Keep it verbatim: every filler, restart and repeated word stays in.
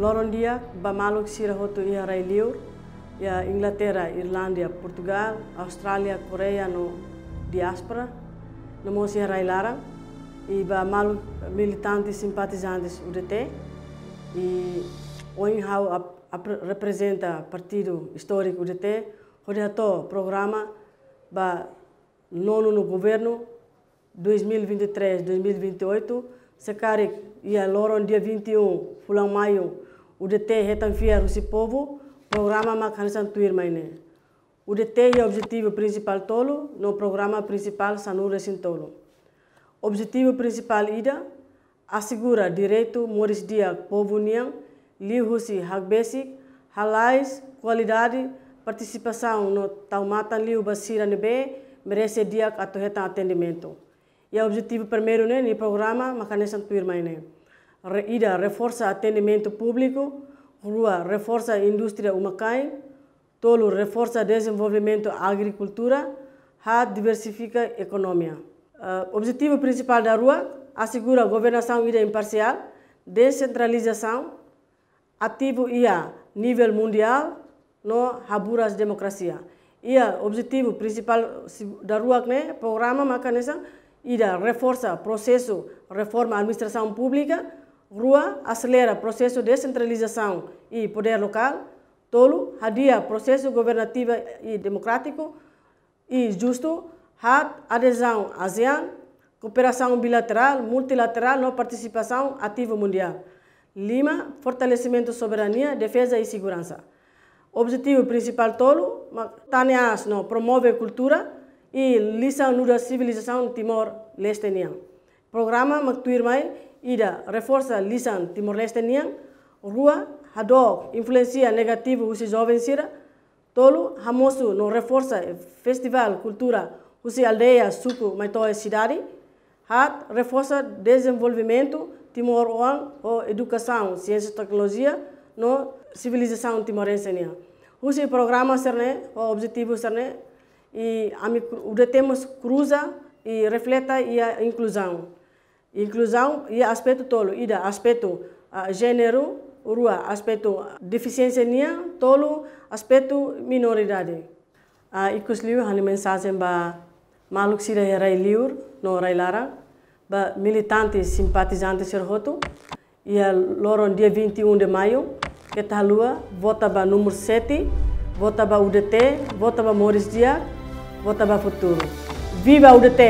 Loron di'ak ba maluk sira hotu iha rai-liur, iha Inglaterra, Irlandia, Portugal, Austrália, Koreia no diáspora, no mós iha rai-laran, i ba maluk militante simpatizantes U D T, i ohin ha'u ap-, ap-, reprezenta partidu istóriku U D T, hodi hato'o programa ba nonu no governu dois mil e vinte e três, dois mil e vinte e oito, se karik iha loron dia vinte e um fulan Maiu, U D T hetan fiar husi povu, programa mak hanesan tuirmai ne'e. U D T iha objetivu prinsipál tolu, no programa prinsipál sanulu-resin-tolu. Objetivu prinsipál ida, asegura direitu moris di'ak povu nian, liuhusi hakbesik, halais, kualidade, partisipasaun no tau matan liu ba sira ne'ebé merese di'ak atu hetan atendimentu. Iha objetivu primeiru ne'e, nia programa mak hanesan tuirmai ne'e. Re-, ida, reforsa atendimentu públiku, rua, reforsa indústria uma-kain, tolu, reforsa dezenvolvimentu agrikultura, haat, diversifika ekonomia. Eh, objetivu prinsipál daruak, asegura governasaun ida imparsiál, desentralizasaun, ativu iha nivel mundiál, no haburas demokrasia. Iha objetivu prinsipál si-, daruak ne'e, programa mak hanesan, ida, reforsa prosesu reforma administrasaun públika, rua, aselera prosesu desentralizasaun i podér lokál, tolu, hadi'a prosesu governativu i demokrátiku i justu, haat, adezaun ASEAN, kooperasaun bilaterál, multilaterál no partisipasaun ativu mundiál. Lima, fortalesimentu soberania, defeza i seguransa. Objetivu prinsipál tolu, mak tane aas no promove kultura i lisan nu'udar sivilizasaun Timor-Leste nian. Programa mak tuirmai, ida, reforsa lisan Timor-Leste nian, rua, hadook influénsia negativu husi joven sira, tolu, hamosu no reforsa festivál kultura husi aldeia, suku, mai to'o sidade, haat, reforsa dezenvolvimentu timoroan ho edukasaun, siénsia, teknolojia no sivilizasaun timorense nian. Husi programa sira-ne'e, ho objetivu sira-ne'e, i ami kru-, U D T mós kruza i refleta iha inkluzaun. Inkluzaun iha aspetu tolu, ida, aspetu, ah, jéneru, rua, aspetu defisiénsia nian, tolu, aspetu minoridade. Ah, ikusliu ha'u-nia mensajen ba maluk sira iha rai-liur no rai-laran, ba militante simpatizante sira hotu, iha loron dia vinte e um de maio, keta haluha, vota ba númeru sete, vota ba U D T, vota ba moris di'ak, vota ba futuru. Viva U D T!